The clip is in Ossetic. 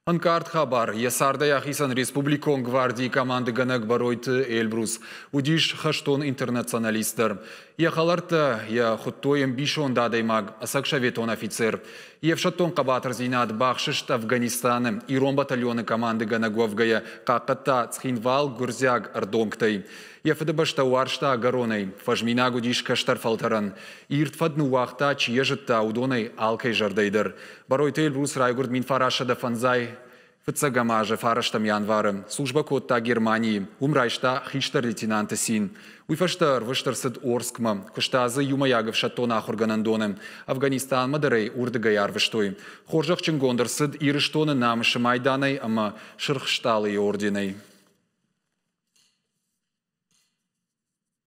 Ӕнкъард хабар йӕ цардӕй ахицӕн республикон гвардийы командыгӕнӕг Бӕройты Эльбрус. Уыдис хӕстон интернационалист дӕр. Йӕ хӕлӕрттӕ йӕ хуыдтой ӕмбисонд адӕймаг, ӕцӕг советон афицер. Йе фсӕддон хъӕбатырдзинад бахсыст Афганистаны. Ирон батальоны командыгӕнӕг уӕвгӕйӕ хъахъхъӕдта Цхинвал гуырдзиаг ӕрдонгтӕй. Йӕ фыдыбӕстӕ уарзта ӕгӕронӕй, фӕзминаг уыдис кӕстӕр фӕлтӕрӕн. Ирд фӕд ныууагъта, чи йӕ зыдта, уыдонӕй алкӕй зӕрдӕйы дӕр. Бӕройты Эльбрус райгуырд 1905 фыццӕгӕм азы фарӕстӕм январы. Службӕ кодта Германийы. Уым райста хистӕр лейтенанты цин. Уый фӕстӕ ӕрвыст ӕрцыд Орскмӕ. Куыста дзы иумӕйаг ӕфсӕддон ахуыргӕнӕндоны. Афганистанмӕ дӕр ӕй уырдыгӕй арвыстой. Хорзӕхджынгонд ӕрцыд Ирыстоны намысы майданӕй ӕмӕ Сырх Стъалыйы орденӕй.